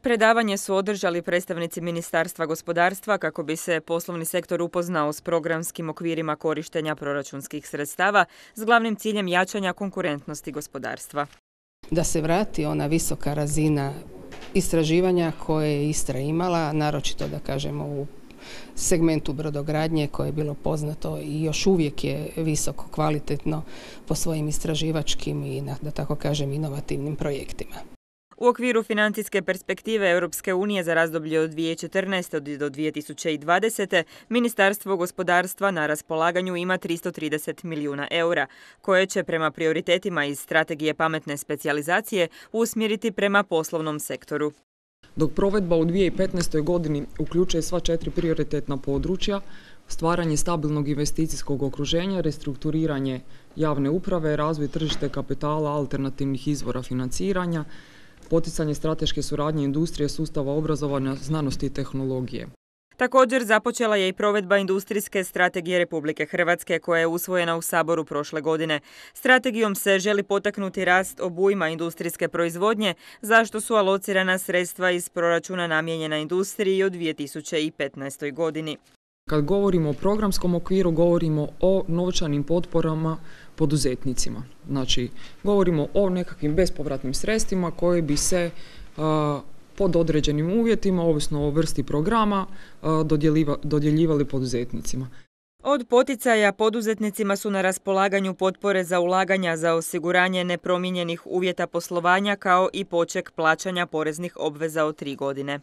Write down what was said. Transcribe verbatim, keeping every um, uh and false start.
Predavanje su održali predstavnici Ministarstva gospodarstva kako bi se poslovni sektor upoznao s programskim okvirima korištenja proračunskih sredstava s glavnim ciljem jačanja konkurentnosti gospodarstva. Da se vrati ona visoka razina istraživanja koje je Istra imala, naročito da kažemo u segmentu brodogradnje koje je bilo poznato i još uvijek je visoko kvalitetno po svojim istraživačkim i, da tako kažem, inovativnim projektima. U okviru financijske perspektive Europske unije za razdoblje od dvije tisuće četrnaeste. do dvije tisuće dvadesete. Ministarstvo gospodarstva na raspolaganju ima tristo trideset milijuna eura, koje će prema prioritetima iz strategije pametne specijalizacije usmjeriti prema poslovnom sektoru. Dok provedba u dvije tisuće petnaestoj. godini uključuje sva četiri prioritetna područja, stvaranje stabilnog investicijskog okruženja, restrukturiranje javne uprave, razvoj tržište kapitala, alternativnih izvora financiranja, poticanje strateške suradnje industrije, sustava obrazovanja, znanosti i tehnologije. Također započela je i provedba industrijske strategije Republike Hrvatske koja je usvojena u Saboru prošle godine. Strategijom se želi potaknuti rast obujma industrijske proizvodnje, za što su alocirana sredstva iz proračuna namijenjena industriji od dvije tisuće petnaestoj. godini. Kad govorimo o programskom okviru, govorimo o novčanim potporama poduzetnicima. Znači, govorimo o nekakvim bespovratnim sredstvima koje bi se a, pod određenim uvjetima, ovisno o vrsti programa, a, dodjeljivali poduzetnicima. Od poticaja poduzetnicima su na raspolaganju potpore za ulaganja za osiguranje nepromijenjenih uvjeta poslovanja kao i poček plaćanja poreznih obveza od tri godine.